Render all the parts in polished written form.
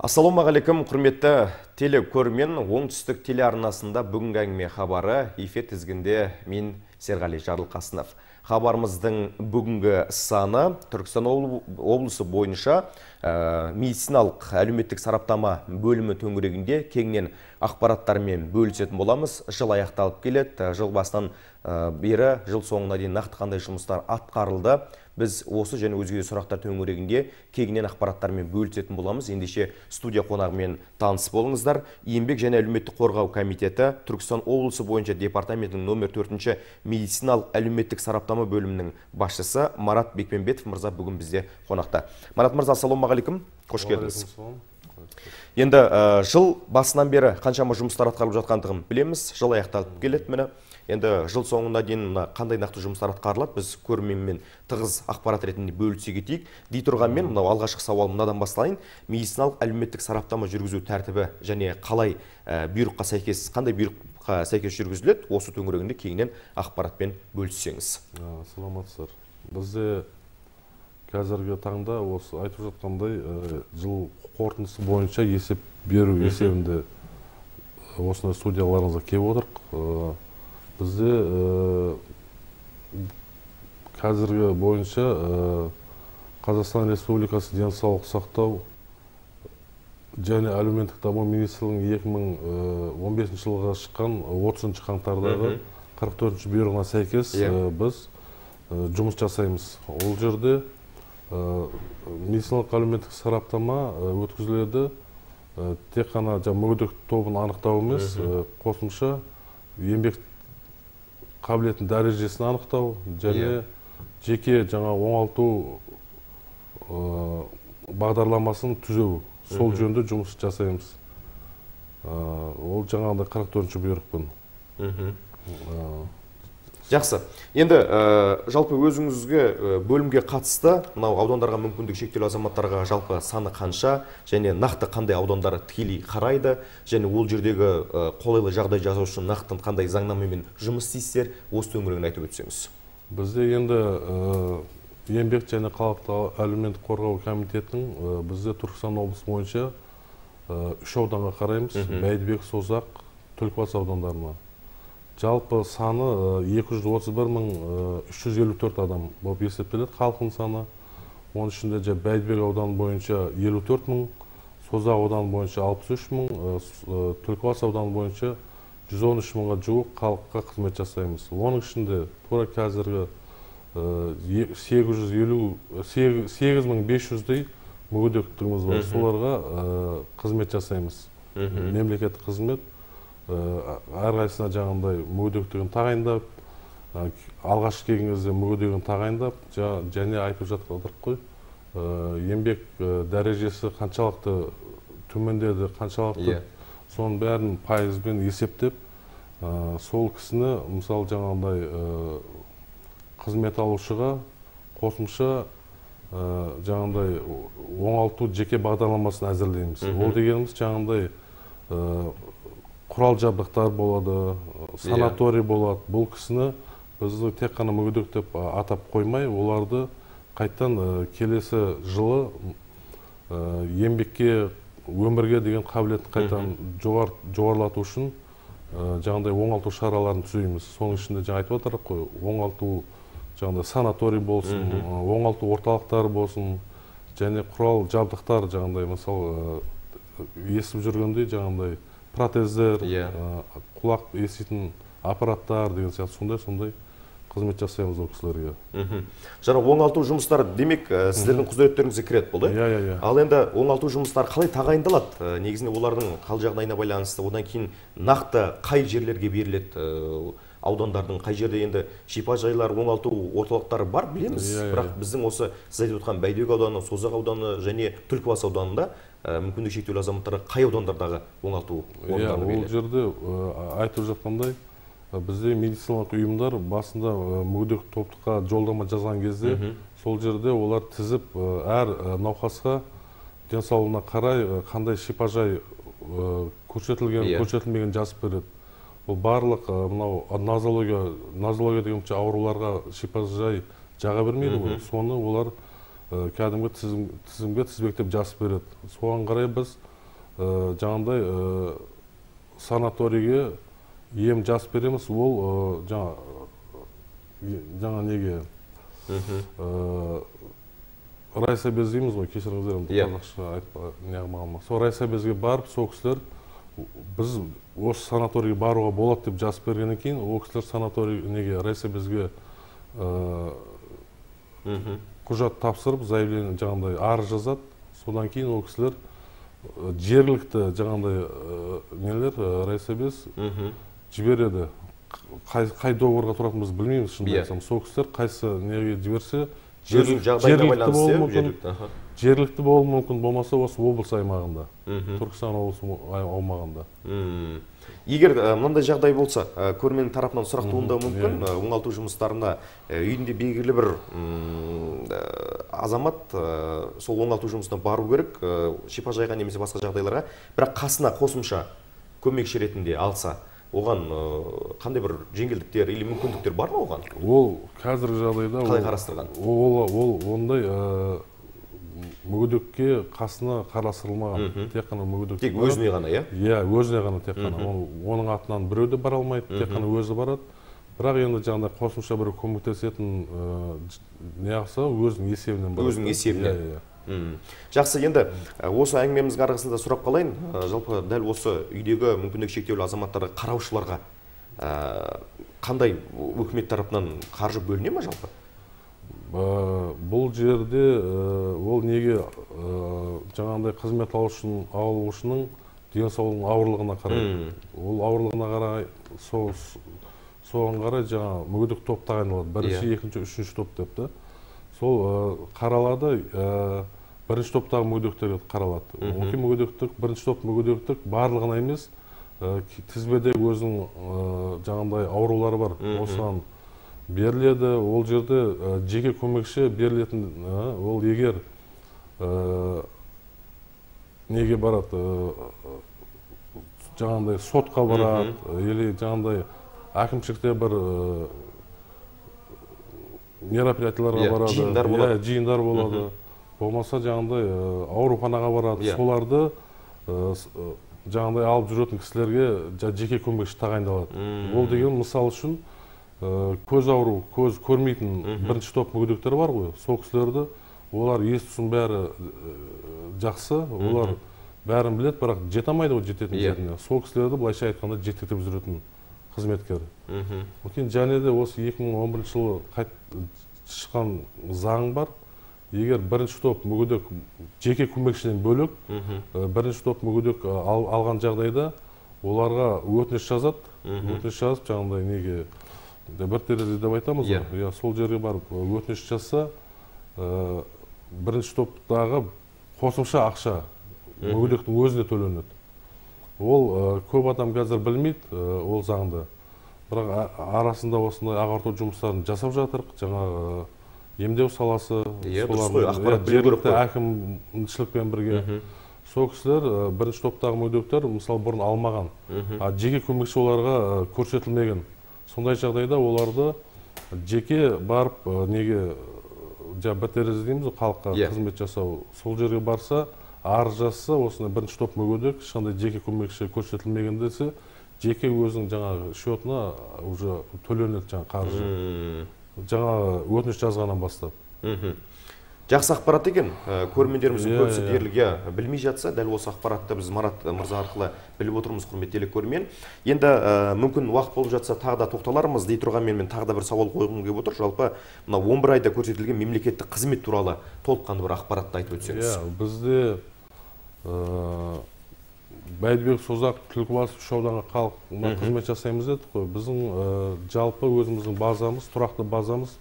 Ассалаумағалейкум, құрметті телекөрермен. Оңтүстік телеарнасында бүгінгі әңгіме хабары эфир тізгінде мен Серғали Жарылқасынов. Хабарымыздың бүгінгі саны Түркістан облысы бойынша медициналық әлеуметтік сараптама бөлімі төңірегінде кеңінен ақпараттармен бөлісетін боламыз. Жыл аяқталып келеді. Жыл басынан бері жыл соңына дейін нақты қандай жұмыстар атқарылды. Біз осы және өзге де сұрақтар төңірегінде кеңінен ақпараттармен бөлісетін боламыз. Ендеше студия қонағымен таныс болыңыздар. Еңбек және әлеуметтік қорғау комитеті Түркістан облысы бойынша департаментінің номер 4-ші медициналық әлеуметтік сараптама бөлімінің басшысы Марат Бекпенбетов мырза бүгін бізде қонақта. Марат мырза, ассалаумағалейкум. Қош келдіңіз. Енді жыл басынан бері қаншама жұмыстар атқарылып жатқандығын білеміз. Жыл аяқталып келеді міне. Енді жыл соңына дейін қандай нақты жұмыстар атқарылады, біз көрерменмен тығыз ақпарат ретінде бөлісе кетейік. Дей тұрғанмен, мынау алғашқы сауал мынадан бастайын. Медициналық әлеуметтік сараптама жүргізу тәртібі және қалай бұйрыққа сәйкес, қандай бұйрыққа сәйкес жүргізіледі, осы төңірегінде кеңінен ақпаратпен бөліссеңіз. Саламатсыздар. Бізде қазіргі таңда осы айтып жатқандай жыл қорытындысы бойынша есеп беру есебінде осындай студияларыңызға келіп отырық. Бізде қазіргі бойынша Қазақстан Республикасы денсаулық сақтау және әлеуметтік даму министрлігінің 2015 жылға шыққан 30 қаңтардағы 44-ші бұйрығына сәйкес біз жұмыс жасаймыз. Ол жерде медициналық әлеуметтік сараптама өткізіледі. Тек қана мүгедек тобын анықтау емес, қосымша еңбек қабілетін дәрежесін анықтау және жеке оңалту бағдарламасын түзеу. Сол жөнінде жұмыс жасаймыз. Ол жаңағыдай 44-ші бұйрықпен. Жақсы. Енді жалпы өзіңізге бөлімге қатысты, мынау аудандарға мүмкіндігі шектеулі азаматтарға жалпы саны қанша және нақты қандай аудандары тікелей қарайды және ол жердегі қолайлы жағдай жасау үшін нақты қандай заңнамамен жұмыс істейсіздер, осы төңірегін айтып өтсеңіз. Бізде енді еңбек және халықты әлеуметтік қорғау комитетінің бізде Түркістан облысы бойынша 3 ауданға қараймыз: Бәйдібек, Созақ, Түлкібас аудандарына. Жалпы саны 231.354 адам болып есептеледі халқының саны. Оның ішінде Бәйдібек ауданы бойынша 54.000, Созақ ауданы бойынша 63.000, Түлкібас ауданы бойынша 113.000-ға жуық халыққа қызмет жасаймыз. Оның ішінде тура қазіргі 8500-дей мүгедектігіміз бар. Соларға қызмет жасаймыз. Мемлекеттік қызмет әрқайсысына жаңағындай мүгедектігін тағайындап, алғашқы келген кезде мүгедегін тағайындап, және айтып жатырық қой, еңбек дәрежесі қаншалықты төмендеді, қаншалықты соның бәрін пайызбен есептеп, сол кісіні мысалы жаңағындай қызмет алушыға қосымша жаңағындай оңалту жеке бағдарламасын әзірлейміз. Ол дегеніміз жаңағындай құрал жабдықтар болады, санаторий болады. Бұл кісіні біз тек қана мүгедек деп атап қоймай, оларды қайттан келесі жылы еңбекке, өмірге деген қабілетін қайттан жоғарылату үшін жаңағындай оңалту шараларын түзейміз. Соның ішінде айтып отырық қой, оңалту жаңағындай санаторий болсын, оңалту орталықтары болсын, және құрал жабдықтар жаңағындай, мысалы естіп жүргендей жаңағындай протездер, құлақ еститін аппараттар деген сияқты сондай қызмет жасаймыз ол кісілерге. Жаңа оңалту жұмыстары демек сіздердің құзыреттеріңізге кіреді болды. Ал енді оңалту жұмыстары қалай тағайындалады? Негізінде олардың қал жағдайына байланысты, одан кейін нақты қай жерлерге беріледі? Аудандардың қай жерде енді шипажайлар, оңалту орталықтары бар білеміз. Бірақ біздің осы сіз айтып отқан Бәйдібек ауданы, Созақ ауданы және Түлкібас ауданында мүмкіндігі шектеулі азаматтарға қай аудандардағы оңалту орындары беріледі? Ол жерде айтып жатқандай, бізде медициналық ұйымдар басында мүгедек топтыққа жолдама жазған кезде, сол жерде олар тізіп әр науқасқа денсаулығына қарай қандай шипажай көрсетілген, көрсетілмеген жазып береді. Бұл барлық нозология деген ауруларға шипажай жаға бермейді. Соны олар кәдімгі тізімге тізбектеп жазып береді. Соған қарай біз жаңағыдай санаторийге ем жазып береміз. Ол жаңа неге райсобез дейміз ғой, кешіріңіздер, қазақша неғылмағанма. Сол райсобезге барып, сол кісілер біз осы санаторийге баруға болады деп жазып бергеннен кейін, ол кісілер санаторий неге райсобезге құжат тапсырып, заявление жаңағыдай арыз жазады. Содан кейін ол кісілер жергілікті жаңағыдай нелер райсобез жібереді. Қай договорға тұратынымызды білмейміз, шынымды айтсам. Сол кісілер қайсы неге жіберсе, жергілікті болуы мүмкін, болмаса осы облыс аймағында, Түркістан облысы аумағында. Егер мынандай жағдай болса, көрменің тарапынан сұрақ туындауы мүмкін, оңалту жұмыстарына үйінде белгілі бір азамат сол оңалту жұмысына бару керек, шипажайға немесе басқа жағдайларға, бірақ қасына қосымша көмекші ретінде алса, оған қандай бір жеңілдіктер или мүмкіндіктер бар ма оған? Ол қазіргі жағдайда қалай қарастырған? Ол ондай мүгедекке қасына қарастырылмаған. Тек қана мүгедек. Тек өзіне ғана, иә? Иә, өзіне ғана тек қана. Оның атынан біреу де бара алмайды, тек қана өзі барады. Бірақ енді жаңағыдай қосымша бір көмектесетін неғысы өзінің есебінен барады. Өзінің есебінен. Жақсы, енді осы әңгімеміздің арасында сұрап қалайын. Жалпы дәл осы үйдегі мүмкіндігі шектеулі азаматтарға, қараушыларға қандай үкімет тарапынан қаржы бөліне ме жалпы? Бұл жерде ол неге жаңағыдай қызмет алушының денсаулығының ауырлығына қарай. Ол ауырлығына қарай, соған қарай жаңа мүгедек топ тағайындалады. Бірінші, екінші, үшінші топ депті. Сол қаралады, бірінші топтағы мүгедектерге қаралады. Оңай мүгедектік, бірінші топ мүгедектік барлығына емес, тізбеде өзінің жаңағыдай аурулары бар. Осыған беріледі. Ол жерде жеке көмекші берілетін, ол егер неге барады, жаңағыдай сотқа барады, или жаңағыдай әкімшілікте бір мероприятияларға барады, жиындар болады. Болмаса жаңағыдай ауруханаға барады. Соларды жаңағыдай алып жүретін кісілерге жеке көмекші тағайындалады. Ол деген мысал үшін көз ауру, көз көрмейтін бірінші топ мүгедектер бар ғой. Сол кісілерді, олар ес-түсін бәрі жақсы, олар бәрін біледі, бірақ жете алмайды ғой жететін жеріне. Сол кісілерді былайша айтқанда жетектеп жүретін қызметкер. Және де осы 2011 жылы шыққан заң бар. Егер бірінші топ мүгедек жеке көмекшіден бөлек, бірінші топ мүгедек алған жағдайда оларға өтініш жазады. Өтініш жазып, жаңағыдай неге бір терезе деп айтамыз ғой. Сол жерге барып өтініш жазса, бірінші топтағы қосымша ақша мүгедектің өзіне төленеді. Ол көп адам қазір білмейді ол заңды. Бірақ арасында осындай ағарту жұмыстарын жасап жатырық. Жаңағы емдеу саласы, жергілікті әкімшілікпен бірге. Сол кісілер бірінші топтағы мүгедектер мысалы бұрын алмаған, жеке көмекші оларға көрсетілмеген. Сондай жағдайда оларды жеке барып неге бір терезе дейміз, халыққа қызмет жасау. Сол жерге барса, арыз жазса, осындай бірінші топ мүгедек, ешқандай жеке көмекші көрсетілмеген десе, жеке өзінің жаңағы счетына уже төленеді жаңағы қаржы. Жаңағы өтініш жазғаннан бастап. Жақсы ақпарат екен. Көрермендеріміздің көбісі дерлік білмей жатса, дәл осы ақпаратты біз Марат мырза арқылы біліп отырмыз, құрметті телекөрермен. Енді мүмкін уақыт болып жатса тағы да тоқталармыз дей тұрғанмен мен тағы да бір сауал қойғым келіп отыр. Жалпы мына 11 айда көрсетілген мемлекеттік қызмет туралы толыққанды бір ақпаратты айтып өтсеңіз. Бізде Бәйдібек, Созақ, Түлкібас, үш ауданға халыққа қызмет жасаймыз дедік қой. Біздің жалпы өзіміздің базамыз, тұрақты базамыз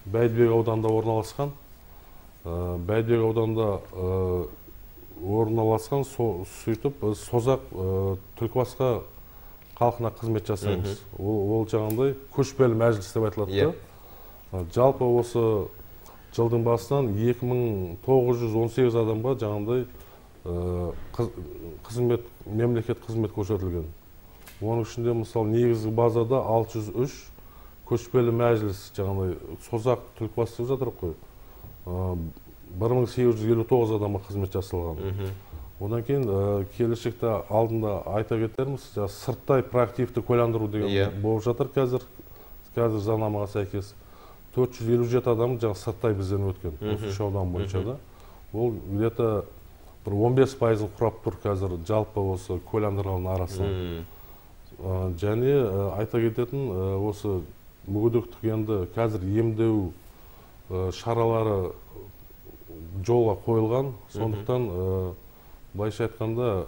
Бәйдібек ауданында орналасқан. Бәйдібек ауданында орналасқан, сөйтіп Созақ, Түлкібасқа халқына қызмет жасаймыз. Ол жаңағыдай көшпелі мәжіліс деп айтылады. Жалпы осы жылдың басынан 2918 адамға жаңағыдай мемлекет қызмет көрсетілген. Оның ішінде мысалы негізгі базада 603 көшпелі мәжіліс, жаңағыдай Созақ, Түлкібас деп жатыр қой. 1859 адамға қызмет жасалған. Одан кейін келешекте алдында айта кетерміз, сырттай проактивті куәландыру деген болып жатыр қазір заңнамаға сәйкес. 457 адам сырттай бізден өткен, осы 3 аудан бойынша да. Ол где-то 15%-ын құрап тұр қазір жалпы осы куәландырғанның арасынан. Және айта кететін осы мүгедектік енді қазір емдеу шаралары жолға қойылған. Сондықтан былайша айтқанда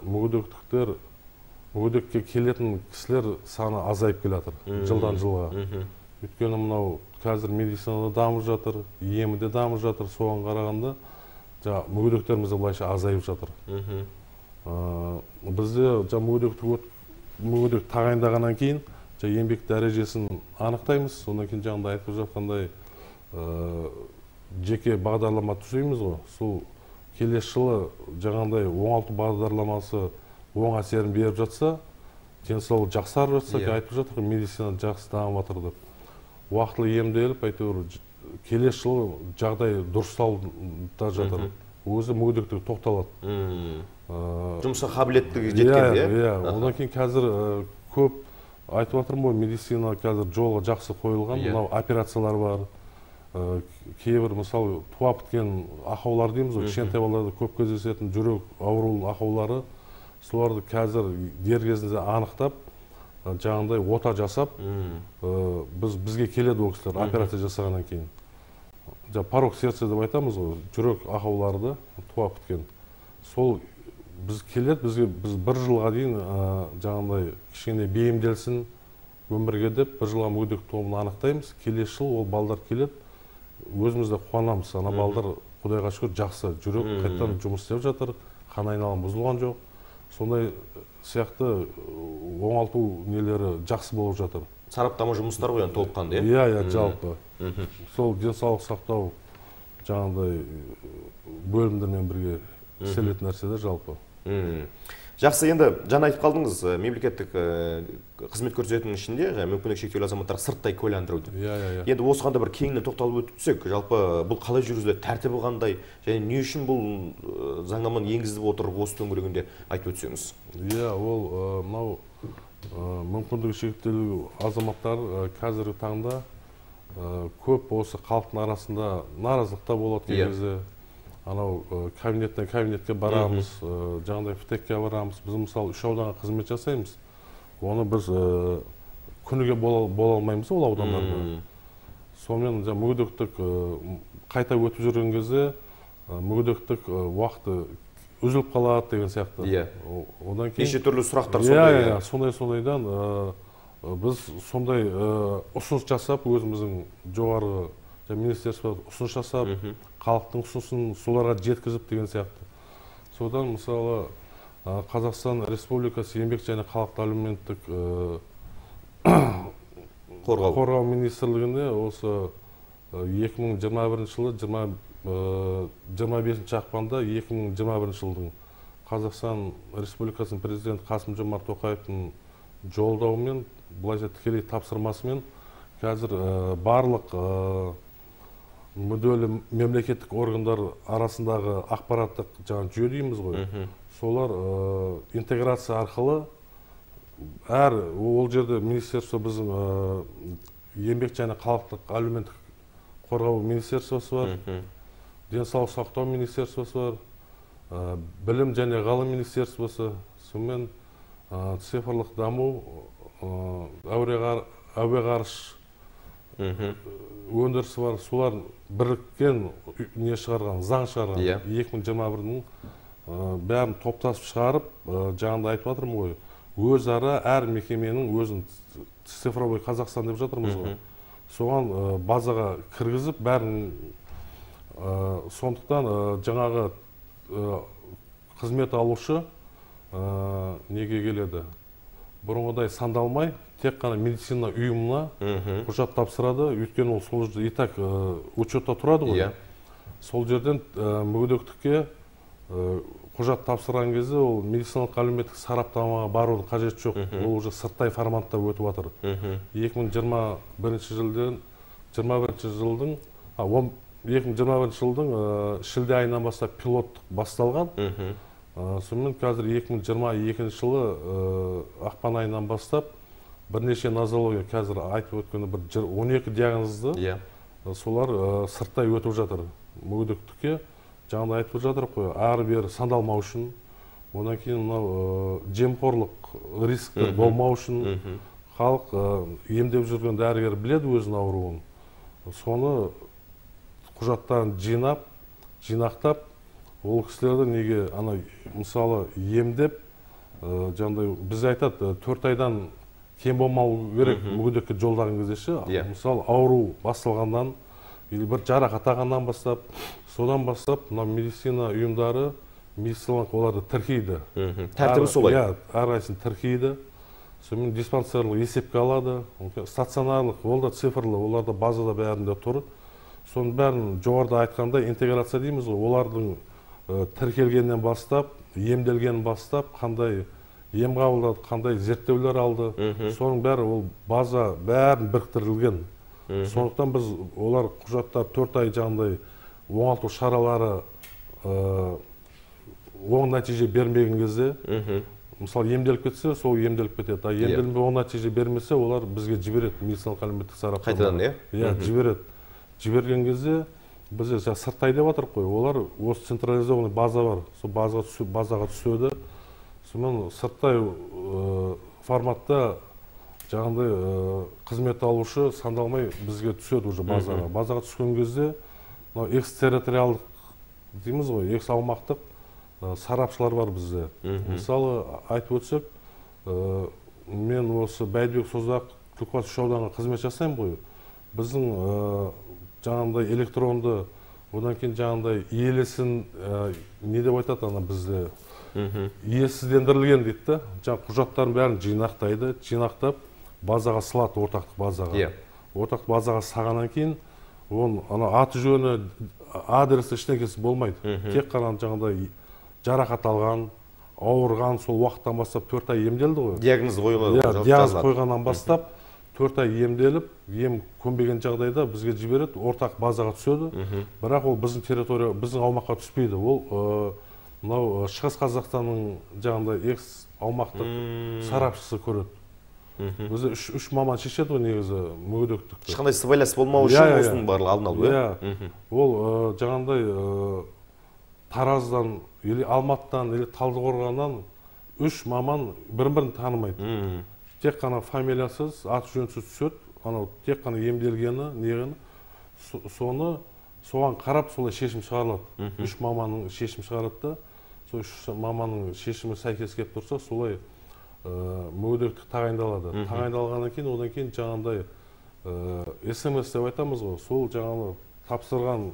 мүгедекке келетін кісілер саны азайып келе жатыр жылдан жылға. Өйткені мынау қазір медицинада дамып жатыр, емде дамып жатыр, соған қарағанда мүгедектеріміз былайша азайып жатыр. Бізде мүгедек тағайындағаннан кейін еңбек дәрежесін анықтаймыз. Содан кейін жаңағыдай айтып жатқандай жеке бағдарлама түзейміз ғой. Сол келесі жылы жаңағыдай оңалту бағдарламасы оң әсерін беріп жатса, денсаулық жақсарып жатса, айтып жатыр, медицина жақсы дамып жатыр деп. Уақытылы емделіп, әйтеуір келесі жылы жағдай дұрысталып жатыр. Өзі мүгедектігі тоқталады. Жұмысқа қабілеттігі жеткен, иә? Одан кейін қазір көп айтып жатырмын ғой, медицина қазір жолға жақсы қойылған, мынау операциялар бар. Кейбір мысалы туа біткен ақаулар дейміз ғой, кішкентай балаларда көп кездесетін жүрек ауруының ақаулары, соларды қазір дер кезінде анықтап, жаңағыдай ота жасап, бізге келеді ол кісілер операция жасағаннан кейін. Порок сердца деп айтамыз ғой, жүрек ақауларды туа біткен. Сол біз келеді, біз бір жылға дейін жаңағыдай кішкене бейімделсін өмірге деп, бір жылға мүгедек тобын анықтаймыз. Келесі жыл ол балдар келеді, өзіміз де қуанамыз. Ана балдар Құдайға шүкір жақсы, жүрек қайтадан жұмыс істеп жатыр, қан айналымы бұзылған жоқ. Сондай сияқты оңалту нелері жақсы болып жатыр. Сараптама жұмыстар ғой, толыққанды, иә, жалпы. Сол денсаулық сақтау жаңағыдай бөлімдермен бірге істелетін нәрселер жалпы. Жақсы, енді жаңа айтып қалдыңыз, мемлекеттік қызмет көрсетудің ішінде мүмкіндігі шектеулі азаматтарға сырттай куәландыруды. Енді осыған да бір кеңінен тоқталып өтсек, жалпы бұл қалай жүргізіледі, тәртібі қандай, және не үшін бұл заңнаманы енгізіліп отыр, осы төңірегінде айтып өтсеңіз. Иә, ол мынау мүмкіндігі шектеулі азаматтар қазіргі таңда көп осы халықтың арасында наразылықта болады кезде. Анау кабинеттен кабинетке барамыз, жаңағыдай ФТЭКке барамыз. Біз мысалы 3 ауданға қызмет жасаймыз. Оны біз күніге бола алмаймыз ол аудандарда. Сонымен мүгедектік қайта өтіп жүрген кезде мүгедектік уақыты үзіліп қалады деген сияқты. Одан кейін неше түрлі сұрақтар сондай. Сондайдан біз сондай ұсыныс жасап, өзіміздің жоғарғы министерство ұсыныс жасап, халықтың ұсынысын соларға жеткізіп деген сияқты. Содан мысалы Қазақстан Республикасы еңбек және халықты әлеуметтік қорғау министрлігінде осы 2021 жылы 25 ақпанда 2021 жылдың Қазақстан Республикасының президенті Қасым-Жомарт Тоқаевтың жолдауымен, былайша тікелей тапсырмасымен қазір барлық мүдделі мемлекеттік органдар арасындағы ақпараттық жүйе дейміз ғой. Солар интеграция арқылы ол жерде министерство біздің еңбек және халықтық әлеуметтік қорғау министерствосы бар, денсаулық сақтау министерствосы бар, білім және ғылым министерствосы, сонымен цифрлық даму, әуе ғарыш өндірісі бар, солар біріккен заң шығарған 2021-дің бәрін топтасып шығарып, жаңағыда айтып жатырмын ғой, өзара әр мекеменің өзін цифровой Қазақстан деп жатырмыз ғой. Соған базаға кіргізіп бәрін, сондықтан жаңағы қызмет алушы неге келеді? Бұрынғыдай сандалмай, тек қана медицина ұйымына құжат тапсырады, өйткені ол сол жерде итак учетта тұрады ғой. Сол жерден мүгедектікке құжат тапсырған кезде ол медициналық әлеуметтік сараптамаға барудың қажет жоқ. Ол уже сырттай форматта өтіп жатыр. 2021 жылдың шілде айынан бастап пилоттық басталған. Сонымен қазір 2022 жылы ақпан айынан бастап бірнеше нозология қазір айтып өткені бір 12 диагнозды солар сырттай өтіп жатыр. Мүгедектікке жаңағыдай айтып жатыр қой, ары-бері сандалмау үшін, одан кейін мынау жемқорлық рисктер болмау үшін халық емдеп жүрген дәрігер біледі өзінің ауруын. Соны құжаттарын жинақтап, ол кісілерді неге мысалы емдеп, жаңағыдай біз айтады 4 айдан кем болмау керек мүгедекке жолдаған кезде ше. Мысалы ауру басталғаннан или бір жарақат алғаннан бастап, содан бастап мына медицина ұйымдары медициналық оларды тіркейді. Тәртібі солай. Әрқайсысын тіркейді. Сонымен диспансерлық есепке алады, стационарлық, ол да цифрлы, оларда базада бәрінде тұр. Соның бәрін жоғарыда айтқандай интеграция дейміз ғой, олардың тіркелгеннен бастап, емделгеннен бастап, қандай ем қабылдады, қандай зерттеулер алды, соның бәрі ол база бәрін біріктірілген. Сондықтан біз олар құжаттар 4 ай жаңағыдай оңалту шаралары оң нәтиже бермеген кезде, мысалы емделіп кетсе, сол емделіп кетеді. Емделмей оң нәтиже бермесе, олар бізге жібереді, медициналық әлеуметтік сараптамаға. Қайтадан, жібереді. Жіберген кезде бізде сырттай деп жатыр қой, олар осы централизованный база бар, сол базаға түседі. Сонымен сырттай форматта жаңағыдай қызмет алушы сандалмай бізге түседі уже базаға. Базаға түскен кезде экстерриториалдық дейміз ғой, экс-аумақтық сарапшылар бар бізде. Мысалы айтып өтсек, мен осы Бәйдібек Созақ Түлкібас үш ауданға қызмет жасаймын ғой. Біздің жаңағыдай электронды, одан кейін жаңағыдай иелесін не деп айтады ана бізде, иесіздендірілген дейді. Жаңағы құжаттарын бәрін жинақтайды, жинақтап базаға салады, ортақтық базаға. Ортақтық базаға сағаннан кейін, оның аты жөні, адресі ештеңкесі болмайды. Тек қана жаңағыдай жарақат алған, ауырған, сол уақыттан бастап 4 ай емделді ғой. Диагноз қойылады. Диагноз қойғаннан бастап 4 ай емделіп, ем көнбеген жағдайда бізге жібереді, ортақ базаға түседі. Бірақ ол біздің территория, біздің аумаққа түспейді. Ол мынау Шығыс Қазақстанның жаңағыдай экс-аумақтық сарапшысы көреді. Бізде 3 маман шешеді ғой негізі мүгедектікті. Ешқандай сыбайлас болмау үшін осының барлығы алдын алу. Ол жаңағыдай Тараздан, или Алматыдан, или Талдықорғаннан 3 маман бірін-бірін танымайды. Тек қана фамилиясыз, аты жөнсіз түседі, анау тек қана емделгені, негені, соған қарап солай шешім шығарылады. 3 маманның шешім шығарады да, сол 3 маманның шешімі сәйкес келіп тұрса, солай мүгедектік тағайындалады. Тағайындалғаннан кейін, одан кейін жаңағыдай СМС деп айтамыз ғой, сол жаңағы тапсырған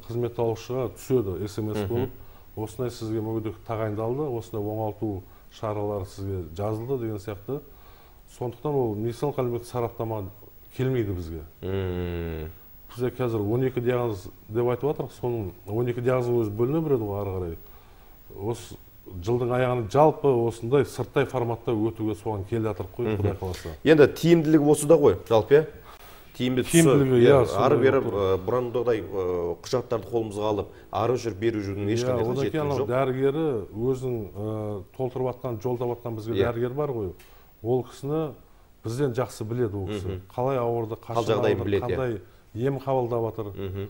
қызмет алушыға түседі СМС болып, осындай сізге мүгедектік тағайындалды, осындай оңалту шаралары сізге жазылды деген сияқты. Сондықтан ол медициналық әлеуметтік сараптама келмейді бізге. Бізде қазір 12 диагноз деп айтып жатырық, соның 12 диагноздың өзі бөліне береді ғой ары қарай. Осы жылдың аяғына жалпы осындай сырттай форматта өтуге соған келе жатырық қой, Құдай қаласа. Енді тиімділігі осы да ғой, жалпы. Тиімді тұсы, ары беріп, бұрындағыдай құжаттарды қолымызға алып, ары жүр, бері жүрдің ешқандай қажеттілігі жоқ. Дәрігері өзінің толтырып атқан, жолдап атқан бізге дәрігер бар ғой. Ол кісіні бізден жақсы біледі ол кісі. Қалай ауырды, қандай ем қабылдап жатыр.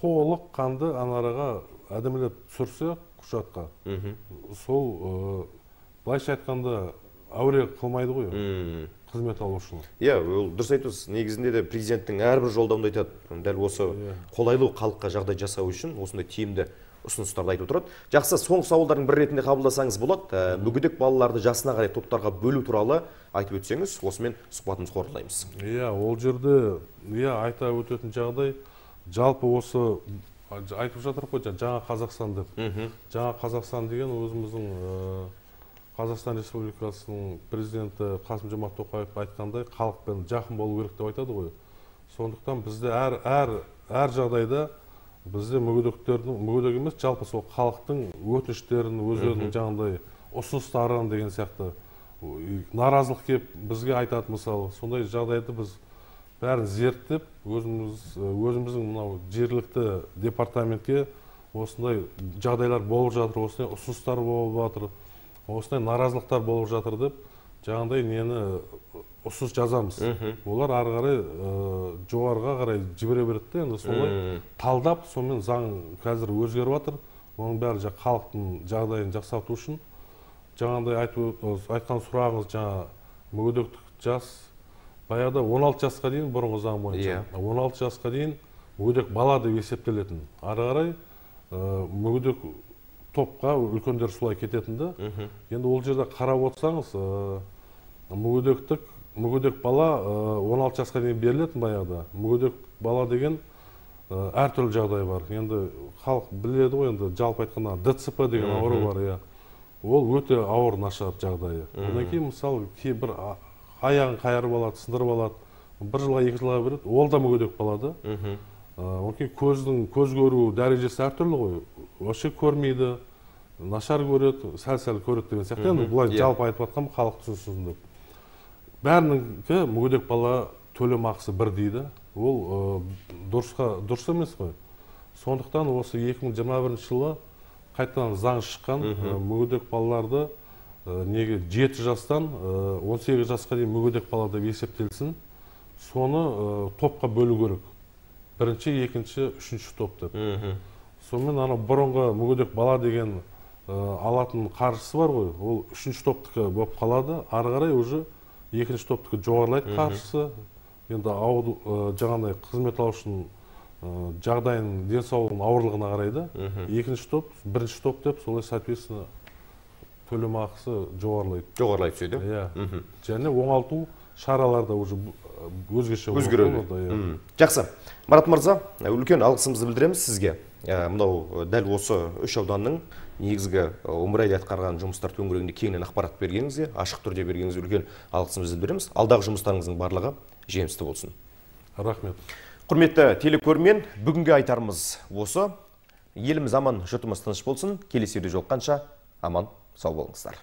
Толық қанды анараға әдемілеп түсірсе құжатқа. Сол былайша айтқанда әуре қылмайды ғой қызмет алушыны. Ол дұрыс айтасыз. Негізінде де президенттің әрбір жолдауында айтады, дәл осы қолайлы халыққа жағдай жасау үшін осындай тиімді ұсыныстарды айтып отырады. Жақсы, соңғы сауалдардың бір ретінде қабылдасаңыз болады. Мүгедек балаларды жасына қарай топтарға бөлу туралы айтып өтсеңіз, осымен сұхбатымызды қорытындылаймыз. Ол жерде айта өтетін жағдай, жалпы осы айтып жатыр қой, жаңа Қазақстан деп. Жаңа Қазақстан деген өзіміздің Қазақстан Республикасының президенті Қасым-Жомарт Тоқаев айтқандай, халықпен жақын болу керек деп айтады ғой. Сондықтан бізде әр жағдайда бізде мүгедек емес, жалпы сол халықтың өтініштерін, өздерінің жаңағыдай ұсыныстарын деген сияқты наразылық келіп бізге айтады мысалы. Сондай жағдайды біз бәрін зерттеп, өзіміздің мынау жергілікті департаментке осындай жағдайлар болып жатыр, осындай ұсыныстар болып жатыр, осындай наразылықтар болып жатыр деп, жаңағыдай нені ұсыныс жазамыз. Олар ары қарай жоғарыға қарай жібере береді де, енді солай талдап, сонымен заң қазір өзгеріп жатыр. Оның бәрі халықтың жағдайын жақсарту үшін. Жаңағыдай айтқан сұрағыңыз, жаңа мүгедектік жас, баяғыда 16 жасқа дейін бұрынғы заң бойынша. 16 жасқа дейін мүгедек бала деп есептелетін. Ары қарай мүгедек топқа үлкендер солай кететінді. Енді ол жерде қарап отырсаңыз, мүгедек бала 16 жасқа дейін берілетін баяғыда. Мүгедек бала деген әртүрлі жағдай бар. Енді халық біледі ғой, енді жалпы айтқанда ДЦП деген ауру бар. Ол өте ауыр нашар жағдайы. Одан кейін мысалы кейбір аяғын қайырып алады, сындырып алады, 1 жылға 2 жылға береді, ол да мүгедек болады. Одан кейін көз көру дәрежесі әртүрлі ғой. Вообще көрмейді, нашар көреді, сәл-сәл көреді деген сияқты. Енді бұлай жалпы айтып жатқам, халық түсінсін деп. Бәрінікі мүгедек бала төлем ақысы бір дейді. Ол дұрыс емес қой. Сондықтан осы 2021 жылы қайтадан заң шыққан, мүгедек балаларды неге 7 жастан 18 жасқа дейін мүгедек бала деп есептелсін, соны топқа бөлу керек. Бірінші, екінші, үшінші топ деп. Сонымен бұрынғы мүгедек бала деген алатын қаржысы бар ғой, ол үшінші топтікі болып қалады. Ары қарай уже екінші топтікі жоғарылайды қаржысы. Енді жаңағыдай қызмет алушының жағдайын, денсаулығының ауырлығына қарайды. Екінші топ, бірінші топ деп, солай соответственно төлем ақысы жоғарылайды. Жоғарылай түседі. Және оңалту шаралары да уже өзгеше өзгереді. Жақсы. Марат мырза, үлкен алғысымызды білдіреміз сізге. Мынау дәл осы 3 ауданның негізгі өмірайда атқарған жұмыстар төңірегінде кеңінен ақпарат бергеніңізге, ашық түрде бергеніңізге үлкен алғысымызды білдіреміз. Алдағы жұмыстарыңыздың барлығы жемісті болсын. Рахмет. Құрметті телекөрермен, бүгінгі айтарымыз осы. Еліміз аман, жұртымыз тыныш болсын. Келесі жолыққанша аман, сау болыңыздар.